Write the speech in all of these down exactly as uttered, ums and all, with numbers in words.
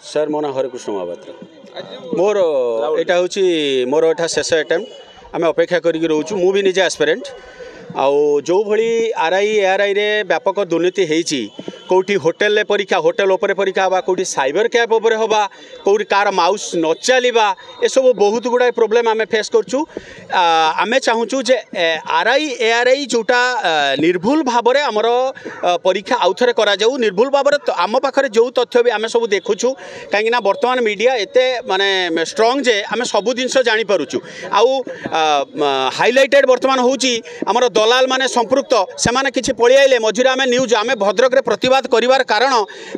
Sir ମୋ ନାଁ ହରେକୃଷ୍ଣ ମହାପାତ୍ର ମୋର ଏଇଟା ହେଉଛି ମୋର ଏଇଟା ଶେଷ ଆଟେମ୍ପ୍ଟ ଆମେ ଅପେକ୍ଷା କରିକି ରହୁଛୁ ମୁଁ ବି ନିଜେ ଆସ୍ପିରାଣ୍ଟ ଆଉ ଯେଉଁଭଳି ଆର୍ I A R ଆଇରେ ବ୍ୟାପକ ଦୁର୍ନୀତି ହେଇଛି କେଉଁଠି ହୋଟେଲରେ ପରୀକ୍ଷା ହୋଟେଲ ଉପରେ ପରୀକ୍ଷା ହେବା କେଉଁଠି ସାଇବର କ୍ୟାଫେ ଉପରେ ହେବା କେଉଁଠି କାହାର ମାଉସ୍ ନ ଚାଲିବା ଏସବୁ ବହୁତ ଗୁଡ଼ାଏ ପ୍ରୋବ୍ଲେମ୍ ଆମେ ଫେସ୍ କରୁଛୁ ଆ, ଆମେ ଚାହୁଁଛୁ ଯେ R I A R I ଯେଉଁଟା ଆ, ନିର୍ଭୁଲ ଭାବରେ ଆମର ଆ, ପରୀକ୍ଷା ଆଉଥରେ କରାଯାଉ ନିର୍ଭୁଲ ଭାବରେ ତ- ଆମ ପାଖରେ ଯେଉଁ ତଥ୍ୟ ବି ଆମେ ସବୁ ଦେଖୁଛୁ କାହିଁକିନା ବର୍ତ୍ତମାନ ମିଡ଼ିଆ ଏତେ ମାନେ ଷ୍ଟ୍ରଙ୍ଗ ଯେ ଆମେ ସବୁ ଜିନିଷ ଜାଣିପାରୁଛୁ ଆଉ ହାଇଲାଇଟେଡ଼ ବର୍ତ୍ତମାନ ହେଉଛି ଆମର ଦଲାଲ ମାନେ ସମ୍ପୃକ୍ତ ସେମାନେ କିଛି ପଳେଇ ଆଇଲେ ମଝିରେ ଆମେ ନ୍ୟୁଜ୍ ଆମେ ଭଦ୍ରକରେ ପ୍ରତିବାଦ କରିବାର କାରଣ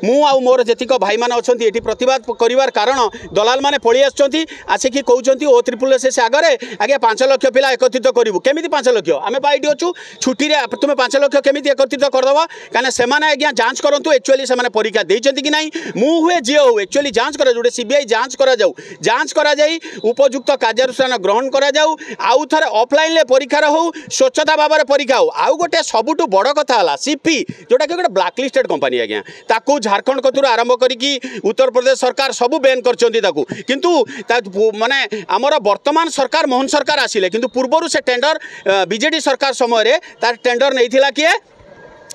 ମୁଁ ଆଉ ମୋର ଯେତିକ ଭାଇମାନେ ଅଛନ୍ତି ଏଠି ପ୍ରତିବାଦ କରିବାର କାରଣ ଦଲାଲ ମାନେ ପଳେଇ ଆସୁଛନ୍ତି ଆସିକି କହୁଛନ୍ତି ଓ ତ୍ରିପୁଲ ଏସ୍ ଆଗରେ ଆଜ୍ଞା ପାଞ୍ଚ ଲକ୍ଷ ପିଲା ଏକତ୍ରିତ କରିବୁ କେମିତି ପାଞ୍ଚ ଲକ୍ଷ ଆମେ ପା ଏଇଠି ଅଛୁ ଛୁଟିରେ ତୁମେ ପାଞ୍ଚ ଲକ୍ଷ କେମିତି ଏକତ୍ରିତ କରିଦେବ କାହିଁକିନା ସେମାନେ ଆଜ୍ଞା ଯାଞ୍ଚ କରନ୍ତୁ ଆକ୍ଚୁଆଲି ସେମାନେ ପରୀକ୍ଷା ଦେଇଛନ୍ତି କି ନାହିଁ ମୁଁ ହୁଏ ଯିଏ ହଉ ଆକ୍ଚୁଆଲି ଯାଞ୍ଚ କରାଯାଉ ଗୋଟେ ସିବିଆଇ ଯାଞ୍ଚ କରାଯାଉ ଯାଞ୍ଚ କରାଯାଇ ଉପଯୁକ୍ତ କାର୍ଯ୍ୟାନୁଷ୍ଠାନ ଗ୍ରହଣ କରାଯାଉ ଆଉ ଥରେ ଅଫଲାଇନ୍ରେ ପରୀକ୍ଷାର ହଉ ସ୍ୱଚ୍ଛତା ଭାବରେ ପରୀକ୍ଷା ହଉ ଆଉ ଗୋଟେ ସବୁଠୁ ବଡ଼ କଥା ହେଲା ସିପି ଯେଉଁଟାକି ଗୋଟେ ବ୍ଲାକ୍ ଲିଷ୍ଟେଡ୍ କମ୍ପାନୀ ଆଜ୍ଞା ତାକୁ ଝାଡ଼ଖଣ୍ଡ କତୁରୁ ଆରମ୍ଭ କରିକି ଉତ୍ତରପ୍ରଦେଶ ସରକାର ସବୁ ବ୍ୟାନ୍ କରିଛନ୍ତି ତାକୁ କିନ୍ତୁ ତା ମାନେ ଆମର ବର୍ତ୍ତମାନ ସରକାର ମୋହନ ସରକାର ଆସିଲେ କିନ୍ତୁ ପୂର୍ବରୁ ସେ ଟେଣ୍ଡର ବିଜେଡି ସରକାର ସମୟରେ ତାର ଟେଣ୍ଡର ନେଇଥିଲା କିଏ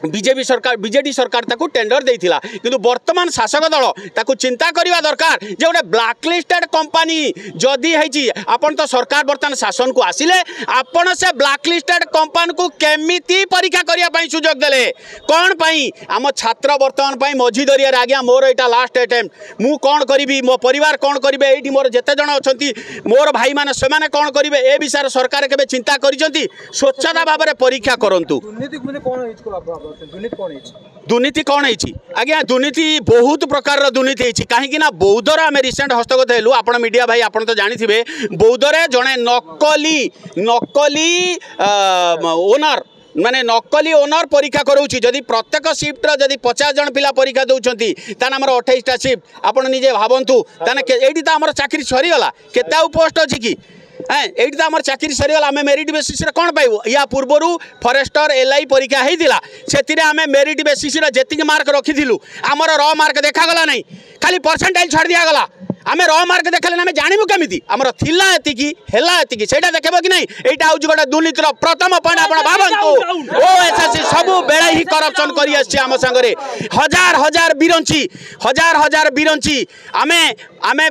ବିଜେପି ସରକାର ବିଜେଡି ସରକାର ତାକୁ ଟେଣ୍ଡର ଦେଇଥିଲା କିନ୍ତୁ ବର୍ତ୍ତମାନ ଶାସକ ଦଳ ତାକୁ ଚିନ୍ତା କରିବା ଦରକାର ଯେ ଗୋଟେ ବ୍ଲାକ୍ ଲିଷ୍ଟେଡ୍ କମ୍ପାନୀ ଯଦି ହେଇଛି ଆପଣ ତ ସରକାର ବର୍ତ୍ତମାନ ଶାସନକୁ ଆସିଲେ ଆପଣ ସେ ବ୍ଲାକ୍ ଲିଷ୍ଟେଡ୍ କମ୍ପାନୀକୁ କେମିତି ପରୀକ୍ଷା କରିବା ପାଇଁ ସୁଯୋଗ ଦେଲେ କ'ଣ ପାଇଁ ଆମ ଛାତ୍ର ବର୍ତ୍ତମାନ ପାଇଁ ମଝି ଦରିଆରେ ଆଜ୍ଞା ମୋର ଏଇଟା ଲାଷ୍ଟ ଆଟେମ୍ପ୍ଟ ମୁଁ କ'ଣ କରିବି ମୋ ପରିବାର କ'ଣ କରିବେ ଏଇଠି ମୋର ଯେତେ ଜଣ ଅଛନ୍ତି ମୋର ଭାଇମାନେ ସେମାନେ କ'ଣ କରିବେ ଏ ବିଷୟରେ ସରକାର କେବେ ଚିନ୍ତା କରିଛନ୍ତି ସ୍ୱଚ୍ଛତା ଭାବରେ ପରୀକ୍ଷା କରନ୍ତୁ ଦୁର୍ନୀତି ମାନେ କ'ଣ ହେଇଛି ଭାବୁଛନ୍ତି ଦୁର୍ନୀତି କ'ଣ ହେଇଛି ଦୁର୍ନୀତି କ'ଣ ହେଇଛି ଆଜ୍ଞା ଦୁର୍ନୀତି ବହୁତ ପ୍ରକାରର ଦୁର୍ନୀତି ହେଇଛି କାହିଁକି ନା ବୌଦ୍ଧର ଆମେ ରିସେଣ୍ଟ ହସ୍ତଗତ ହେଲୁ ଆପଣ ମିଡ଼ିଆ ଭାଇ ଆପଣ ତ ଜାଣିଥିବେ ବୌଦ୍ଧରେ ଜଣେ ନକଲି ନକଲି ଓନର ମାନେ ନକଲି ଓନର ପରୀକ୍ଷା କରାଉଛି ଯଦି ପ୍ରତ୍ୟେକ ସିଫ୍ଟର ଯଦି ପଚାଶ ଜଣ ପିଲା ପରୀକ୍ଷା ଦେଉଛନ୍ତି ତାହେଲେ ଆମର ଅଠେଇଶଟା ସିଫ୍ଟ ଆପଣ ନିଜେ ଭାବନ୍ତୁ ତାହେଲେ କେ- ଏଇଠି ତ ଆମର ଚାକିରି ସରିଗଲା କେତେ ଆଉ ପୋଷ୍ଟ ଅଛି କି হ্যাঁ এইটি তো আমার চাকরি সরিগলা আমি মেরিট বেସିସ୍ରେ କ'ଣ ପାଇବୁ ୟା ପୂର୍ବରୁ ଫରେଷ୍ଟର ଏଲ୍ I ପରୀକ୍ଷା ହେଇଥିଲା ସେଥିରେ ଆମେ ମେରିଟ୍ ବେସିସ୍ରେ ଯେତିକି ମାର୍କ ରଖିଥିଲୁ ଆମର ର ମାର୍କ ଦେଖାଗଲା ନାହିଁ ଖାଲି ପରସେଣ୍ଟାଇଲ୍ ଛାଡ଼ି ଦିଆଗଲା ଆମେ ର ମାର୍କ ଦେଖାଇଲେ ଆମେ ଜାଣିବୁ କେମିତି ଆମର ଥିଲା ଏତିକି ହେଲା ଏତିକି ସେଇଟା ଦେଖେଇବ କି ନାହିଁ ଏଇଟା ହେଉଛି ଗୋଟେ ଦୁର୍ନୀତିର ପ୍ରଥମ ପଏଣ୍ଟ ଆପଣ ଭାବନ୍ତୁ ଓ ଏସ୍ ଏସ୍ ସି ସବୁବେଳେ ହିଁ କରପ୍ସନ୍ କରି ଆସିଛି ଆମ ସାଙ୍ଗରେ ହଜାର ହଜାର ବିରଞ୍ଚି ହଜାର ହଜାର ବିରଞ୍ଚି ଆମେ ଆମେ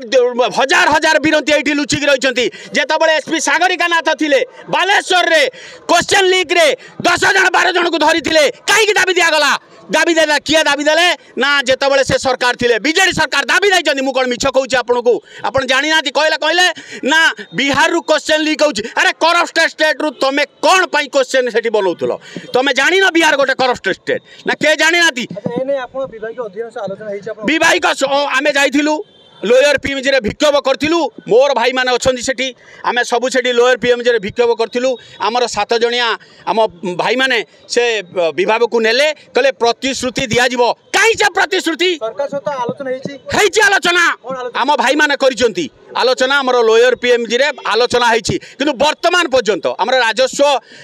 ହଜାର ହଜାର ବିରଞ୍ଚି ଏଇଠି ଲୁଚିକି ରହିଛନ୍ତି ଯେତେବେଳେ ଏସ୍ ପି ସାଗରିକା ନାଥ ଥିଲେ ବାଲେଶ୍ୱରରେ କ୍ୱେଶ୍ଚନ୍ ଲିକ୍ରେ ଦଶ ଜଣ ବାର ଜଣକୁ ଧରିଥିଲେ କାହିଁକି ଦାବି ଦିଆଗଲା ଦାବି ଦେଲା କିଏ ଦାବି ଦେଲେ ନା ଯେତେବେଳେ ସେ ସରକାର ଥିଲେ ବିଜେଡି ସରକାର ଦାବି ଦେଇଛନ୍ତି ମୁଁ କ'ଣ ମିଛ କହୁଛି ଆପଣଙ୍କୁ ଆପଣ ଜାଣିନାହାନ୍ତି କହିଲେ କହିଲେ ନା ବିହାରରୁ କ୍ୱେଶ୍ଚନ୍ ଲିକ୍ ହେଉଛି ଆରେ କରପ୍ଟ ଷ୍ଟେଟ୍ରୁ ତମେ କ'ଣ ପାଇଁ କ୍ୱେଶ୍ଚନ୍ ସେଠି ବନଉଥିଲ ତମେ ଜାଣିନ ବିହାର ଗୋଟେ କରପ୍ଟ ଷ୍ଟେଟ୍ ନା କିଏ ଜାଣିନାହାନ୍ତି ଆଚ୍ଛା ଏ ନେଇ ଆପଣ ବିଭାଗୀୟ ଅଧିକାଂଶ ଆଲୋଚନା ହେଇଛି ଆପଣ ବିବାହିକ ସ- ଆମେ ଯାଇଥିଲୁ ଲୋୟର ପିଏମ୍ଜିରେ ବିକ୍ଷୋଭ କରିଥିଲୁ ମୋର ଭାଇମାନେ ଅଛନ୍ତି ସେଠି ଆମେ ସବୁ ସେଠି ଲୋୟର ପିଏମ୍ଜିରେ ବିକ୍ଷୋଭ କରିଥିଲୁ ଆମର ସାତ ଜଣିଆ ଆମ ଭାଇମାନେ ସେ ବିଭାଗକୁ ନେଲେ କହିଲେ ପ୍ରତିଶ୍ରୁତି ଦିଆଯିବ କାହିଁ ସେ ପ୍ରତିଶ୍ରୁତି ସରକାର ସହିତ ଆଲୋଚନା ହେଇଛି ହେଇଛି ଆଲୋଚନା କ'ଣ ଆଲୋଚନା? ଆମ ଭାଇମାନେ କରିଛନ୍ତି ଆଲୋଚନା ଆମର ଲୋୟର ପିଏମ୍ଜିରେ ଆଲୋଚନା ହେଇଛି କିନ୍ତୁ ବର୍ତ୍ତମାନ ପର୍ଯ୍ୟନ୍ତ ଆମର ରାଜସ୍ୱ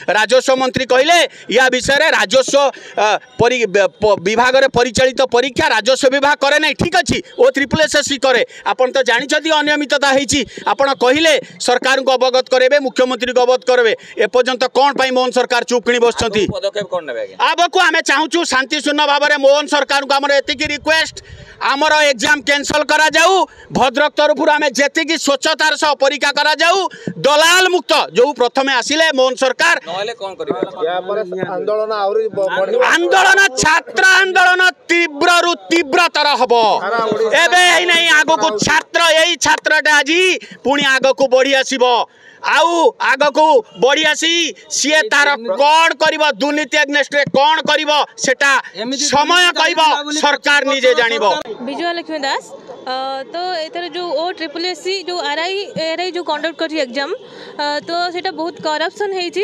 ରାଜସ୍ୱ ମନ୍ତ୍ରୀ କହିଲେ ୟା ବିଷୟରେ ରାଜସ୍ୱ ଅ, ପରି ବ- ବିଭାଗରେ ପରିଚାଳିତ ପରୀକ୍ଷା ରାଜସ୍ୱ ବିଭାଗ କରେ ନାହିଁ ଠିକ୍ ଅଛି ଓ ତ୍ରିପୁଲ ଏସ୍ ଏସ୍ ସି କରେ ଆପଣ ତ ଜାଣିଛନ୍ତି ଅନିୟମିତତା ହେଇଛି ଆପଣ କହିଲେ ସରକାରଙ୍କୁ ଅବଗତ କରାଇବେ ମୁଖ୍ୟମନ୍ତ୍ରୀଙ୍କୁ ଅବଗତ କରାଇବେ ଏପର୍ଯ୍ୟନ୍ତ କ'ଣ ପାଇଁ ମୋହନ ସରକାର ଚୁପ୍ କିଣି ବସିଛନ୍ତି ପଦକ୍ଷେପ କ'ଣ ନେବେ ଆଜ୍ଞା ଆଗକୁ ଆମେ ଚାହୁଁଛୁ ଶାନ୍ତିଶୂନ୍ୟ ଭାବରେ ମୋହନ ସରକାରଙ୍କୁ ଆମର ଏତିକି ରିକ୍ୱେଷ୍ଟ ଆମର ଏକ୍ଜାମ୍ କ୍ୟାନସଲ୍ କରାଯାଉ ଭଦ୍ରକ ତରଫରୁ ଆମେ ଯେତିକି ସ୍ୱଚ୍ଛତାର ସହ ପରୀକ୍ଷା କରାଯାଉ ଦଲାଲ ମୁକ୍ତ ଯେଉଁ ପ୍ରଥମେ ଆସିଲେ ମୋହନ ସରକାର ନହେଲେ କ'ଣ କରିବେ ଏହାପରେ ଆନ୍ଦୋଳନ ଆହୁରି ବ- ବଢିବ ଆନ୍ଦୋଳନ ଛାତ୍ର ଆନ୍ଦୋଳନ ତୀବ୍ରରୁ ତୀବ୍ରତର ହବ ଏବେ ହେଇ ନାହିଁ ଆଗକୁ ଛାତ୍ର ଏଇ ଛାତ୍ରଟା ଆଜି ପୁଣି ଆଗକୁ ବଢି ଆସିବ ଆଉ ଆଗକୁ ବଢି ଆସି ସିଏ ତାର କ'ଣ କରିବ ଦୁର୍ନୀତି ଏଗନେଷ୍ଟରେ କ'ଣ କରିବ ସେଟା ସମୟ କହିବ ସରକାର ନିଜେ ଜାଣିବ ବିଜୟ ଲକ୍ଷ୍ମୀ ଦାସ ଅ, ତ ଏଥର ଯେଉଁ ଓ ଟ୍ରିପଲ୍ ଏସ୍ ସି ଯେଉଁ ଆର୍ I R I ଯେଉଁ କଣ୍ଡକ୍ଟ କରିଛି ଏକ୍ଜାମ୍ ତ ସେଇଟା ବହୁତ କରପ୍ସନ୍ ହେଇଛି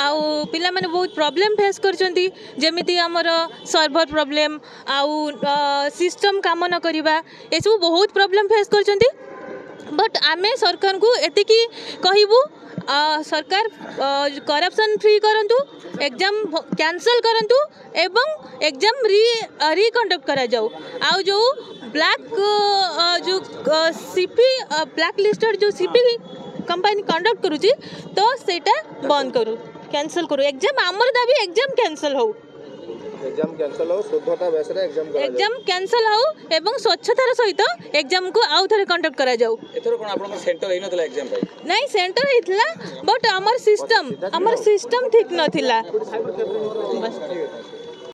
ଆଉ ପିଲାମାନେ ବହୁତ ପ୍ରୋବ୍ଲେମ୍ ଫେସ୍ କରିଛନ୍ତି ଯେମିତି ଆମର ସର୍ଭର ପ୍ରୋବ୍ଲେମ୍ ଆଉ ସିଷ୍ଟମ୍ କାମ ନ କରିବା ଏସବୁ ବହୁତ ପ୍ରୋବ୍ଲେମ୍ ଫେସ୍ କରିଛନ୍ତି ବଟ୍ ଆମେ ସରକାରଙ୍କୁ ଏତିକି କହିବୁ ଅ, ସରକାର କରପ୍ସନ୍ ଫ୍ରି କରନ୍ତୁ ଏକ୍ଜାମ୍ କ୍ୟାନସଲ୍ କରନ୍ତୁ ଏବଂ ଏକ୍ଜାମ୍ ରି ରିକଣ୍ଡକ୍ଟ କରାଯାଉ ଆଉ ଯେଉଁ ବ୍ଲାକ୍ ସିପି ବ୍ଲାକ୍ ଲିଷ୍ଟେଡ଼ ଯେଉଁ ସିପି କମ୍ପାନୀ କଣ୍ଡକ୍ଟ କରୁଛି, ତ ସେଇଟା ବନ୍ଦ କରୁ, କ୍ୟାନସଲ୍ କରୁ ଏକ୍ଜାମ୍। ଆମର ଦାବି ଏକ୍ଜାମ୍ କ୍ୟାନସଲ୍ ହଉ। ଏକ୍ଜାମ କ୍ୟାନସଲ ହଉ, ଶୁଦ୍ଧତା ବେସରେ ଏକ୍ଜାମ କରାଯାଉ। ଏକ୍ଜାମ୍ କ୍ୟାନସଲ୍ ହଉ ଏବଂ ସ୍ୱଚ୍ଛତାର ସହିତ ଏକ୍ଜାମ୍କୁ ଆଉ ଥରେ କଣ୍ଡକ୍ଟ କରାଯାଉ। ଏଥର କ'ଣ ଆପଣଙ୍କର ସେଣ୍ଟର ହେଇନଥିଲା ଏକ୍ଜାମ ପାଇଁ? ନାଇଁ, ସେଣ୍ଟର ହେଇଥିଲା, ବଟ୍ ଆମର ସିଷ୍ଟମ୍ ଆମର ସିଷ୍ଟମ୍ ଠିକ୍ ନଥିଲା, ବାସ୍।